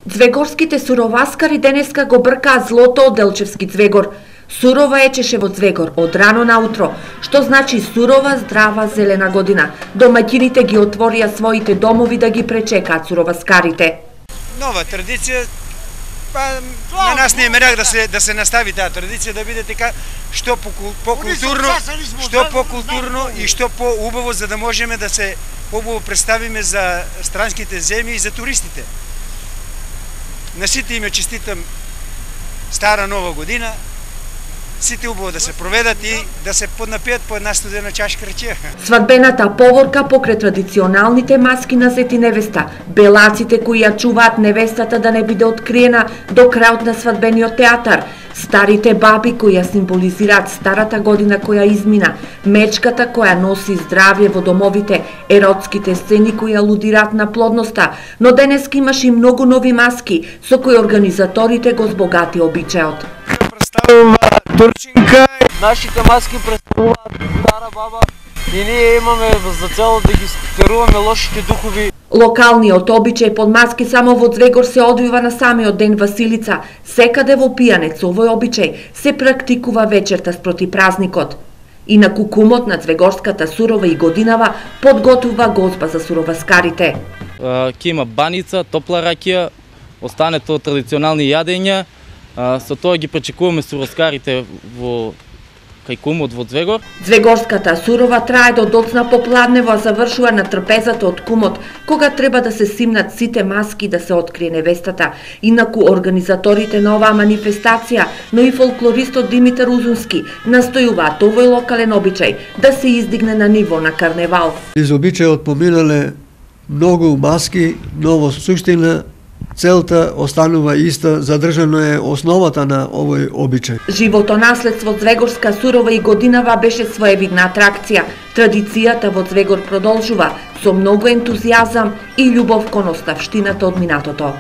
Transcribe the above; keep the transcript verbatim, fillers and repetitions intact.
Звегорските суроваскари денеска го бркаа злото од Делчевски Звегор. Сурова ечеше во Звегор од рано наутро, што значи сурова, здрава, зелена година. Домаќините ги отворија своите домови да ги пречекаат суроваскарите. Нова традиција, па на нас не е мерак да се да се настави таа традиција, да биде така што покултурно, што покултурно и што поубаво, за да можеме да се побаво представиме за странските земји и за туристите. На сите име честитам стара нова година, сите убаво да се проведат и да се поднапијат по една студена чашка рече. Свадбената поворка покрај традиционалните маски на зет и невеста, белаците кои ја чуваат невестата да не биде откриена до крајот на свадбениот театар, старите баби кои ја символизираат старата година која измина, мечката која носи здравје во домовите, еротските сцени кои алудираат на плодноста, но денеска имаш и многу нови маски со кои организаторите го збогати обичајот. Представува турчинка. Нашите маски представуваат стара баба и ние имаме за цел да ги стеруваме лошите духови. Локалниот обичај под маски само во Звегор се одвива на самиот ден Василица. Секаде во Пијанец овој обичај се практикува вечерта спроти празникот. Инаку кумот на Звегорската сурова и годинава подготвува гозба за суроваскарите. Ке има баница, топла ракија, остането традиционални јадења. Со тоа ги пречекуваме суроваскарите во кај кумот во Звегор. Звегорската сурова трае до доцна попладнево, а завршува на трпезата од кумот, кога треба да се симнат сите маски да се открие невестата. Инаку организаторите на оваа манифестација, но и фолклористот Димитар Узунски настојуваат овој локален обичај да се издигне на ниво на карневал. Из обичајот поминале многу маски, но во суштина целта останува иста, задржано е основата на овој обичај. Животонаследство Звегорска сурова и годинава беше своевидна атракција. Традицијата во Звегор продолжува со многу ентузијазам и љубов кон оставштината од минатото.